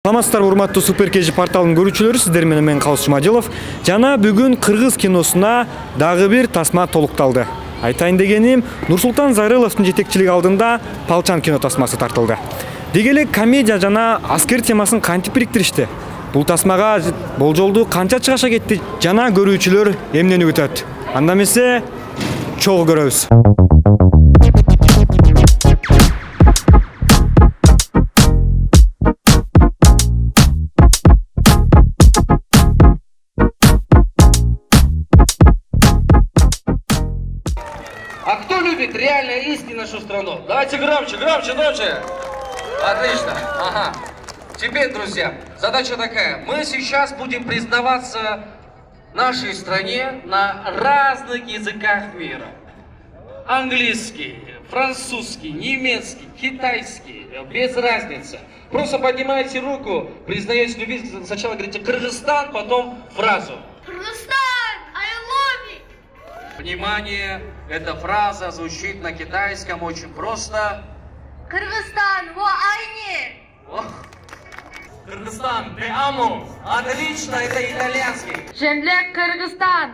Саламатсыздар, урматтуу Супер KG порталынын көрүүчүлөрү, сиздер менен мен Калыс Жумадилов. Жана бүгүн кыргыз киносуна дагы бир тасма толукталды. Айтайын дегеним, Нурсултан Зайрыловдун жетекчилиги алдында Палчан кино тасмасы тартылды. Деги эле комедия жана аскер темасын кантип бириктиришти? Бул тасмага болжолду канча чыгаша кетти жана көрүүчүлөр эмнени күтөт? Анда эмесе, чогуу көрөбүз. А кто любит реально искренне нашу страну? Давайте громче, громче, громче. Отлично. Ага. Теперь, друзья, задача такая. Мы сейчас будем признаваться нашей стране на разных языках мира. Английский, французский, немецкий, китайский, без разницы. Просто поднимайте руку, признаете любить, сначала говорите Кыргызстан, потом фразу. Кыргызстан, I love you. Внимание, эта фраза звучит на китайском очень просто. Кыргызстан, во айне. Кыргызстан, te amo. Отлично, это итальянский. Жемлек Кыргызстан.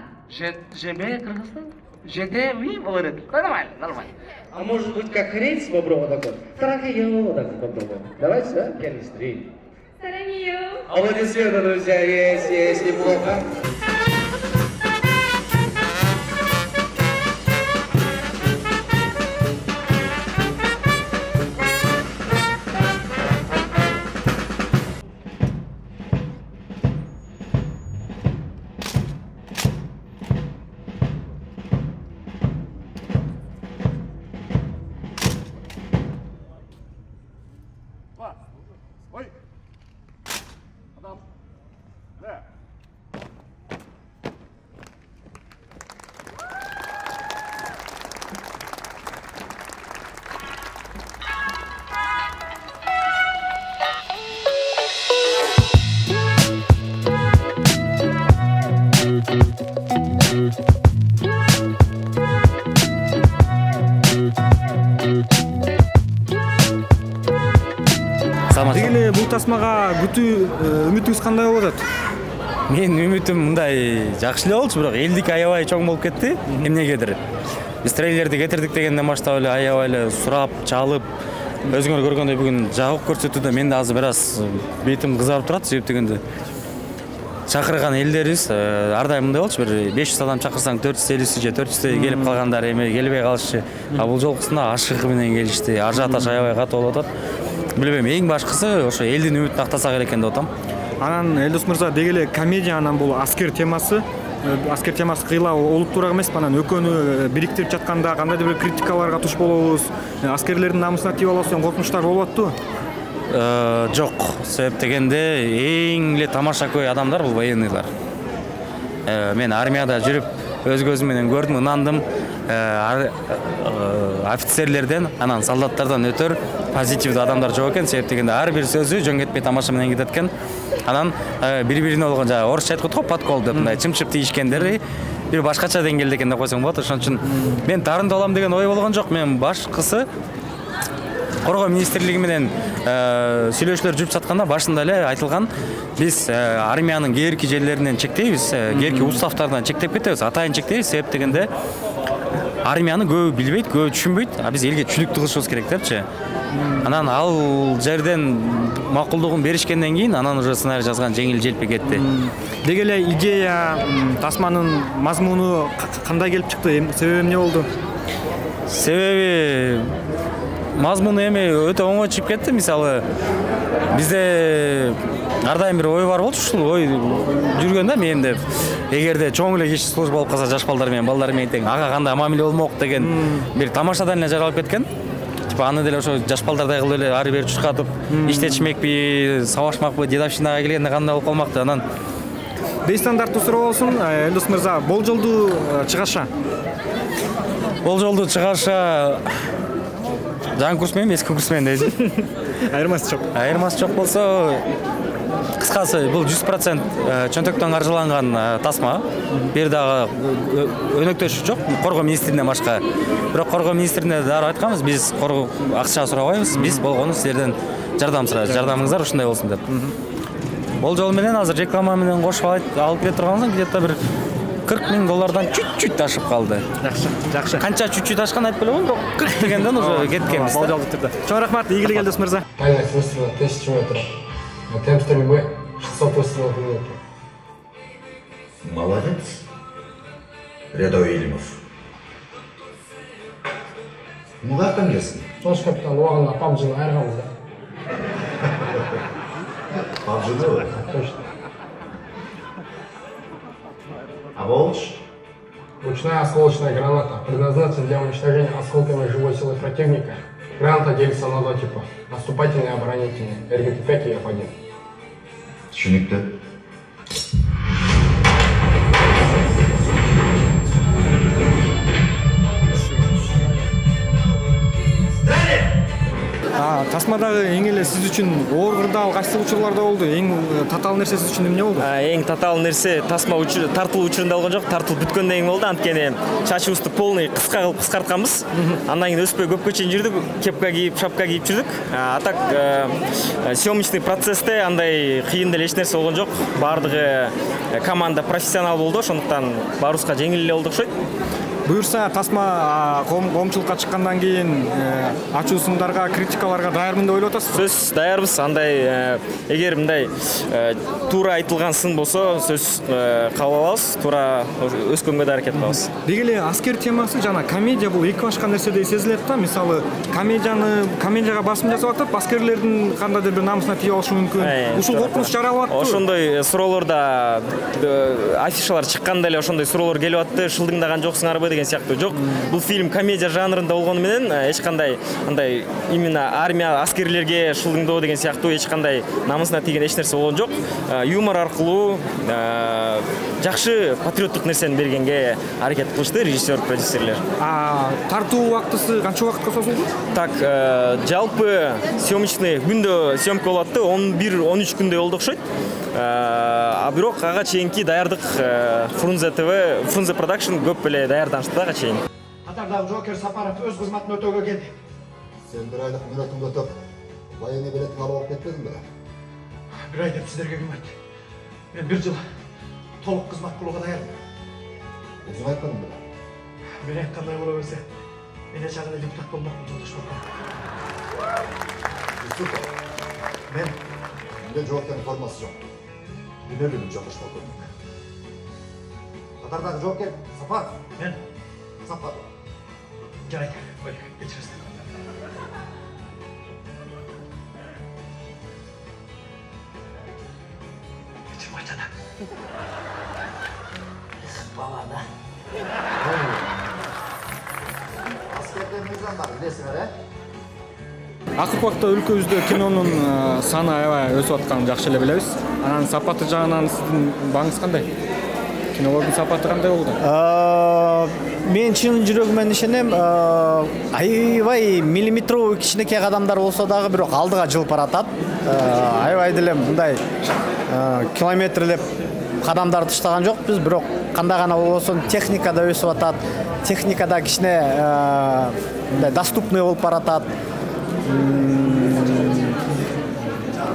Жемлек Кыргызстан? ЖД, молодец. Нормально, нормально. А может быть как рейс боброва такой? Тараньё, так попробуем. Давайте, да? Пианистри. Тараньё. Аплодисменты, друзья, есть, неплохо. Ой! Адам! Да! Деги эле бул тасмага күтүү үмүтүңүз кандай болуп атат? Мен үмүтүм мындай жакшы эле болчу, бирок элдик аябай чоң болуп кетти. Эмнегедир. Биз трейлерди кетирдик дегенден баштап эле аябай эле сурап, чалып, өзүңөр көргөндөй бүгүн жагып көрсөтүүдө мен да азыр бир аз бетим кызарып турат, себеп дегенде чакырган элдерибиз ар дайым мындай болчу, бир 500 адам чакырсаң 450 же 400 келип калгандар эми келбей калышчу. А бул жолкусунда ашыгы менен келишти. Ажиотаж аябай катуу болуп атат. Билбейм, эң башкысы ошо элдин үмүтүн актасак экен деп атам. Анан Элдос мырза, деги эле комедия анан бул аскер темасы кыйла олуттуураак эмеспи? Анан экөөнү бириктирип жатканда кандайдыр бир критикаларга туш болобуз. Аскерлердин намысына тийип алабыз деген коркунучтар болуп аттыбы? Жок, себеп дегенде эң эле тамаша көй адамдар бул военныйлар. Мен армияда жүрүп өз көзүм менен көрдүм, ынандым. Офицерлерден, анан солдаттардан өтөр позитивдүү адамдар жок экен, себеп дегенде ар бир сөзү жөн кетпей тамаша менен кетет экен. Анан бири-бирине болгон жана орусча айткат го, подкол деп мындай чымчып тийишкендери бир башкача деңгээлде экен деп койсоң болот. Ошон үчүн мен дарындуу болом деген ой болгон жок. Мен башкысы Коргоо министрлиги менен сүйлөшүүлөр жүрүп жатканда башында эле айтылган, биз армиянын кээрки жерлеринен чектейбиз, кээрки уставтардан чектеп кетебиз, атайын чектейбиз, себеп дегенде армияны көбү билбейт, көбү түшүнбөйт, а биз элге түшүнүктүү кылышыбыз керек депчи. Анан ал жерден макулдугун беришкенден кийин анан уже сценарий жазган жеңил желпи кетти. Деги эле идея, тасманын мазмуну кандай келип чыкты? Себеби эмне болду? Себеби мазмуну эми өтө оңой чыгып кетти. Мисалы, бизде ар дайым бир ой бар болчу, ушул ой жүргөн да мен деп. Эгерде чоң эле киши служба болуп калса, жаш балдар менен балдар менен тең ага кандай мамиле болмок деген бир тамашадан эле жаралып кеткен. Типа аны деле ошо жаш балдардай кылып эле ары бери чуркатып, иштетишмекпи, сабашмакпы, дедовщинага келгенде кандай болуп калмакты. Анан Бейстандарттуу суроо болсун, Элдос мырза, болжолдуу чыгаша? Болжолдуу чыгаша жаңы курс менен эски курс менен дейсиз. Айырмасы жок. Айырмасы жок болсо, кыскасы бул 100% чөнтөктөн каржыланган тасма. Бир дагы өнөктөшү жок, коргоо министринен башка. Бирок коргоо министрине дагы айтканбыз, биз коргоо акча сурабайбыз, биз болгону силерден жардам сурайбыз. Жардамыңыздар ушундай болсун деп. Бул жол менен азыр реклама менен кошуп алып келе турганбыз, где-то бир $40,000 чуть-чуть ашып калды. Жакшы. Канча чуть-чуть ашкан айтып белем, бирок 40 дегенден уже кеткенбиз. Болжолдуу түрдө. Чоң рахмат, ийгилик элдес мырза. Дальность выстрела 1000 метров. А темп стрельбы 600 выстрелов в минуту. Молодец, рядовой Елимов. Каяктан келсин? Тош капитан убагында PUBG'ны айырганбыз да. PUBG'ны? Точно. А волч? Ручная осколочная граната предназначена для уничтожения осколками живой силы противника. Граната делится на два типа. Наступательный и оборонительный. РГТ-5 и F1. Түшүнүктүү. Тасмадагы эң эле сиз үчүн оор кырдаал кайсы учурлар да болду? Эң татаал нерсе сиз үчүн эмне болду? Эң татаал нерсе тасма тартылуу учурунда болгон жок, тартылып бүткөндөн кийин болду. Анткени чачыбызды полный кыска кылып кыскартканбыз. Андан кийин өспөй көпкө чейин жүрдүк, кепка кийип, шапка кийип жүрдүк. А так съемочный процессте андай кыйын деле эч нерсе болгон жок. Бардыгы команда профессионал болду, ошондуктан баарыбызга жеңил эле болду окшойт. Буюрса, тасма коомчулукка чыккандан кийин ачуусундарга, критикаларга даярмын деп ойлоп атасызбы? Сөз даярбыз. Андай эгер мындай туура айтылган сын болсо, сөз кабыл алабыз, туура өскөнгө да аракет кылабыз. Деги эле аскер темасы жана комедия бул эки башка нерседей сезилет да. Мисалы, комедияга басым жасап атып, аскерлердин кандайдыр бир намысына тийип алышы мүмкүн. Ушул коркунуч жаралып атты. Ошондой суроолорда афишалар чыкканда эле ошондой суроолор келип атты. Шылдыңдаган жоксуңарбы деген сыяктуу. Жок, бул фильм комедия жанрында болгону менен эч кандай андай именно армия аскерлерге шылдыңдоо деген сыяктуу эч кандай намысына тийген эч нерсе болгон жок. Юмор аркылуу жакшы патриоттук нерсени бергенге аракет кылышты режиссер, продюсерлер. Тартуу убактысы канча убакытка созулду? Так, жалпы съемочный күндө съемка болуп атты, 11-13 күндөй болду окшойт. А бирок ага чейинки даярдык Фрунзе ТВ, Фрунзе Продакшн көп эле даярданышты ага чейин. Катардагы жоокер Сапаров өз кызматын өтөөгө келди. Сен бир айлык мүнөтүңдү өтөп, военный билетин алып алып кетпедиң бе? Бир ай деп сиздерге ким айтты? Мен бир жыл толук кызмат кылууга даярмын. Өзүң айтканың беле? Мен айткандай боло берсе, мен эч агында депутат болмокмун, жолдош Балкон. Мен Менде жоокердин формасы жок. Эмне билем, жолдош Балкон. Катардагы жоокер Сапаров. Мен Сапаров. жарайт. Ой, кечиресиз. Кечирим айтады. Бала да. Аскерден мыйзамдар билесиңер, Акыркы убакта өлкөбүздө кинонун саны аябай өсүп атканын жакшы эле билебиз. Анан сапаты жагынан сиздин бааңыз кандай? Кинолордун сапаты кандай болду? Мен чын жүрөгүмөн ишенем, аябай миллиметровый кичинекей кадамдар болсо дагы бирок алдыга жылып баратат. Аябай деле мындай километрлеп кадамдар таштаган жокпуз, бирок кандай гана болбосун техника да өсүп атат. Техника да кичине мындай доступный болуп баратат.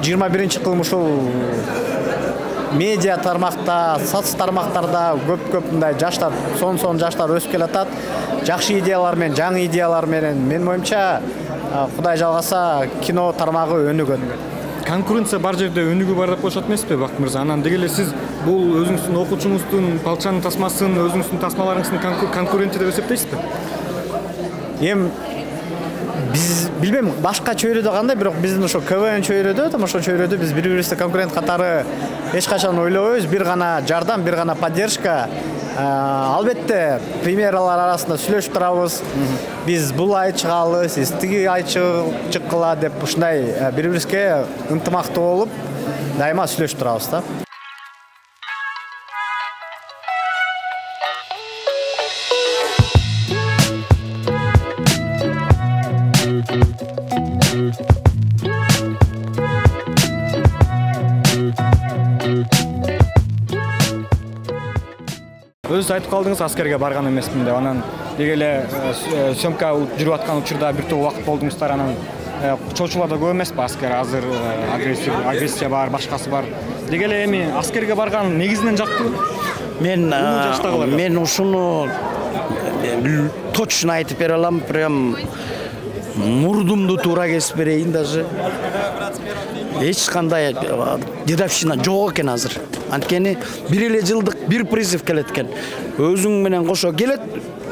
21-кылым ушул медиа тармакта, соц тармактарда көп мындай жаштар, сон жаштар өсүп келатат. Жакшы идеялар менен, жаңы идеялар менен, менин оюмча, Кудай жалгаса, кино тармагы өнүгөт. Конкуренция бар жерде өнүгүү бар деп коюшат эмеспи, Бакыт мырза? Анан деги эле сиз бул өзүңүздүн окуучуңуздун палчанын тасмасын, өзүңүздүн тасмаларыңыздын конкуренти деп эсептейсизби? Биз билбейм башка чөйрөдө кандай, бирок биздин ошо КВН чөйрөдө, ошо чөйрөдө биз бири-бирибизди конкурент катары эч качан ойлобойбуз. Бир гана жардам, бир гана поддержка. Албетте, премьералар арасында сүйлөшүп турабыз. Биз бул ай чыгалы, сиз тиги ай чыккыла деп ушундай бири-бирибизге ынтымактуу болуп, дайыма сүйлөшүп турабыз да. өзүңүз айтып калдыңыз аскерге барган эмесмин деп. Анан деги эле съемка жүрүп аткан учурда бир топ убакыт болдуңуздар. Анан чоочулар да көп эмеспи аскер? Азыр агрессия бар, башкасы бар. Деги эле эми аскерге барган негизинен жактыбы? Мен ушуну точно айтып бере алам. Прям мурдумду туура кесип берейин даже. Эч кандай дедовщина жок экен азыр. Анткени бир эле жылдык бир призыв келет экен. Өзүң менен кошо келет,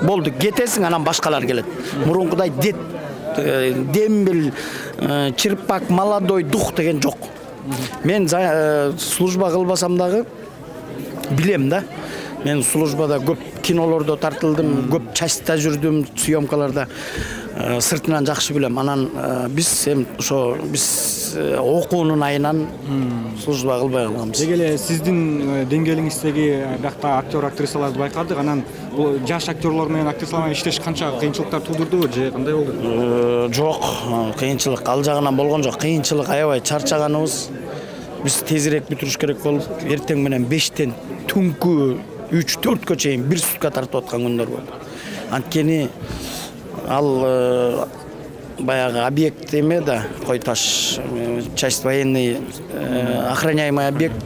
болду, кетесиң, анан башкалар келет. Мурункудай дембел, чирпак, молодой дух деген жок. Мен служба кылбасам дагы билем да. Мен службада көп кинолордо тартылдым, көп частьта жүрдүм, съемкаларда. Сыртынан жакшы билем. Анан биз окуунун айынан служба кылбай калганбыз. Деги эле сиздин деңгээлиңиздеги биякта актер актрисаларды байкадык. Анан бул жаш актерлор менен актрисалар менен иштеш канча кыйынчылыктар туудурдубу же кандай болду? Жок, кыйынчылык ал жагынан болгон жок. Кыйынчылык аябай чарчаганыбыз. Биз тезирээк бүтүрүш керек болуп, эртең менен 5тен түнкү 3-4кө чейин бир сутка тартып аткан күндөр болду. Анткени ал баягы объект эме да, Кой Таш, часть военный, охраняемый объект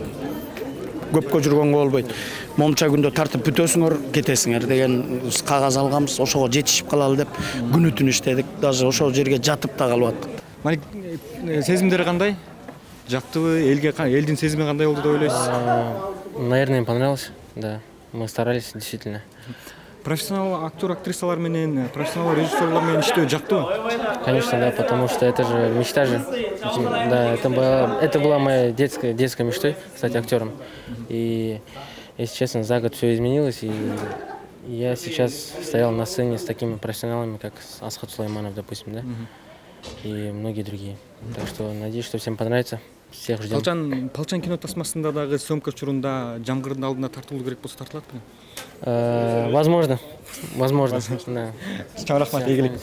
көпкө жүргөнгө болбойт. Момча күндө тартып бүтөсүңөр, кетесиңер деген кагаз алганбыз. Ошого жетишип калалы деп күнү-түн иштедик. Даже ошол жерге жатып да калып аттык. Малик, сезимдери кандай? Жактыбы? Элдин сезими кандай болду деп ойлойсуз? Наверное, им понравилось. Да, мы старались действительно. Профессионал актер, актрисалар менен, профессионал режиссерлар менен иштөө жактыбы? Конечно, да, потому что это же мечта же. Да, это была моя детской мечтой стать актером. И, если честно, за год все изменилось, и я сейчас стоял на сцене с такими профессионалами, как Асхат Сулайманов, допустим, да, и многие другие. Так что надеюсь, что всем понравится. Всех ждем. Палчан кино тасмасында дагы съемка учурунда жамгырдын алдында тартылуу керек болсо тартылат беле? Возможно. Да. Чоң рахмат, ийгилик.